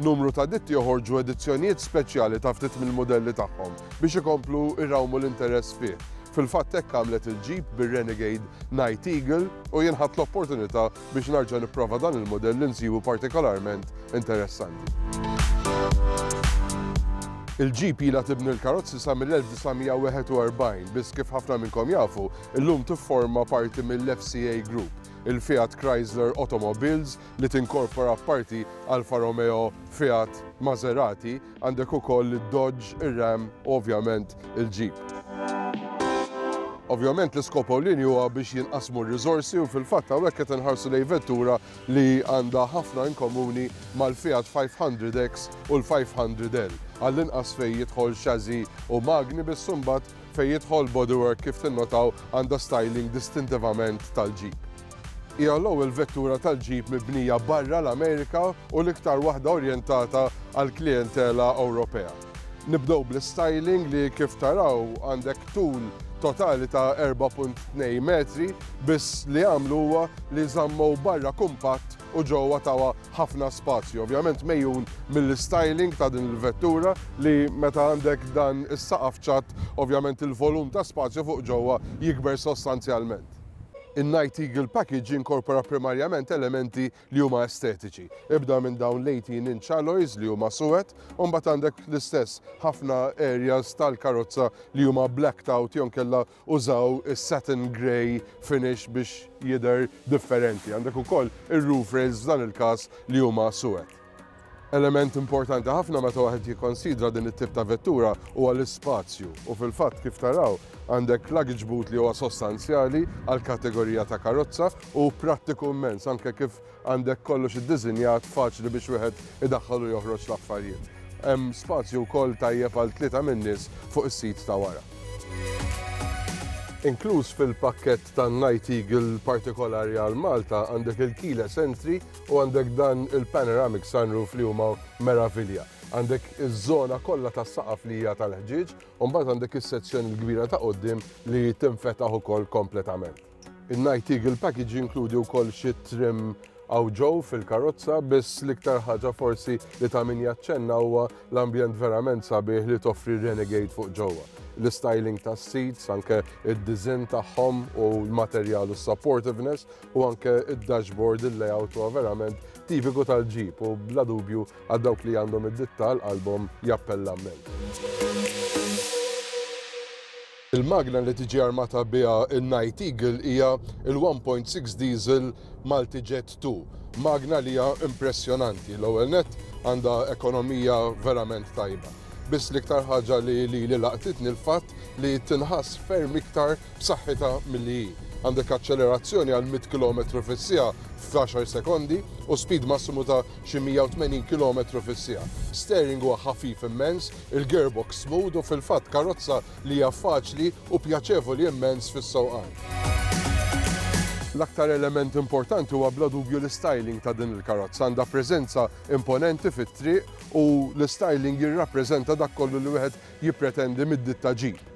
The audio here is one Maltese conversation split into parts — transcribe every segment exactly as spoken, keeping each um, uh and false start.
Numru ta' ditti joħorġu edizzjonijiet speċjali ta' ftit mill-modelli tagħhom biex ikomplu jrawmu l-interess fih. Fil-fatt hekk għamlet il-Jeep bir-Renegade Night Eagle u jien ħadt l-opportunità biex nerġa' nipprova dan il-modell li nsibu partikolarment interessanti. Il-Jeep ilha tibni l-karozzi sa mill-elf disa' mija wieħed u erbgħin, biss kif ħafna minnkom jafu, illum tifforma parti mill-F C A Group, il-Fiat Chrysler Automobiles li tinkorpora parti Alfa Romeo, Fiat, Maserati, għandek ukoll il-Dodge, il-Ram, ovvjament il-Jeep. Ovvjament l-iskop ewlieni huwa biex jinqasmu r-riżorsi u fil-fatt hawnhekk qed inħarsu lejn vettura li għandha ħafna in komuni mal-Fiat five hundred X u l-five hundred L. Għall-inqas fejn jidħol chassis u magni, biss imbagħad fejn jidħol bodywork, kif tinnotaw, għandha styling distintivament tal-Jeep. Hija l-ewwel vettura tal-Jeep mibnija barra l-Amerika u l-iktar waħda orjentata għal klientela Ewropea. Nibdew bl-styling li kif taraw għandek tul totali ta' erbgħa punt tnejn metri, biss li għamlu huwa li żammew barra kumpatt u ġewwa tawha ħafna spazju. Ovvjament megħjun mill-styling ta' din il-vettura li meta għandek dan is-saqaf ċatt, ovvjament il-volum ta' spazju fuq ġewwa jikber sostanzjalment. Il-Night Eagle Package jinkorpora primarjament elementi li huma estetiċi. Ibda minn dawn l-eighteen inch alloys li huma suwed, u mbagħad għandek l-istess ħafna areas tal-karozza li huma blacked out jew kella użaw is-satin grey finish biex jidher differenti. Għandek ukoll ir-roof rails, f'dan il-każ li huma suwed. Element importanti ħafna meta wieħed jikkonsidra din it-tip ta' vettura huwa l-ispazju, u fil-fatt kif taraw għandek luggage boot li huwa sostanzjali għal kategorija ta' karozza u prattiku immens, anke kif għandek kollox iddiżinjat faċli biex wieħed idaħħal u joħroġ l-affarijiet. Hemm spazju wkoll tajjeb għal tlieta min-nies fuq is-seat ta' wara. Inkluż fil-pakket ta' Night Eagle partikolari għal Malta għandek il-keyless entry u għandek dan il-panoramic sunroof li huma meravilja. Għandek iż-żona kollha tas-saqaf li hija tal-ħġieġ u mbagħad għandek is-sezzjoni l-kbira ta' quddiem li tinfetaħ ukoll kompletament. Il-Night Eagle package jinkludi wkoll xi trim hawn ġew fil-karozza, biss l-iktar ħaġa forsi li ta' min jaċċenna huwa l-ambjent verament sabiħ li toffri Renegade fuq ġewwa. L-styling tas seats, anke id-design tagħhom u l-materjal u supportiveness u anke id-dashboard, il-layout huwa verament tipiku tal-Jeep u bla dubju għal dawk li għandhom id-ditta għal qalbhom jappella immens. Il-magna li tiġi armata biha il-Night Eagle hija il-one point six diesel Multijet two. Magna li hija impressjonanti. L-ewwel net għandha ekonomija verament tajba. Biss l-iktar ħaġa li li li laqtitni l-fatt li tinħass ferm iktar b'saħħitha milli hi. Għandek accelerazzjoni għal mitt kilometru fis-siegħa f'għaxar sekondi u speed massimu ta' xi mija u tmenin kilometru fis-siegħa. Steering huwa ħafif immens, il-gearbox smooth u fil-fatt karozza li hija faċli u pjaċevoli immens fis-sewqan. L-aktar element importanti huwa bla dubju l-styling ta' din il-karozza. Għandha preżenza imponenti fit-triq u l-styling jirrappreżenta dak kollu li wieħed jippretendi mid-ditta Jeep.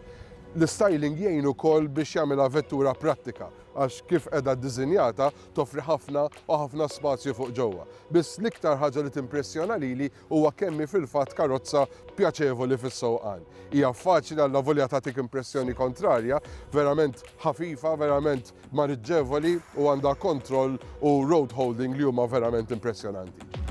L-styling jgħin ukoll biex jagħmilha vettura prattika għax kif qiegħda ddisinjata toffri ħafna u ħafna spazju fuq ġewwa. Biss l-iktar ħaġa li timpressjona lili huwa kemm hi fil-fatt karozza pjaċevoli fis-sewqan. Hija faċli, allavolja tagħtik impressjoni kontrarja, verament ħafifa, verament maniġġevoli u għandha kontroll u road holding li huma verament impressjonanti.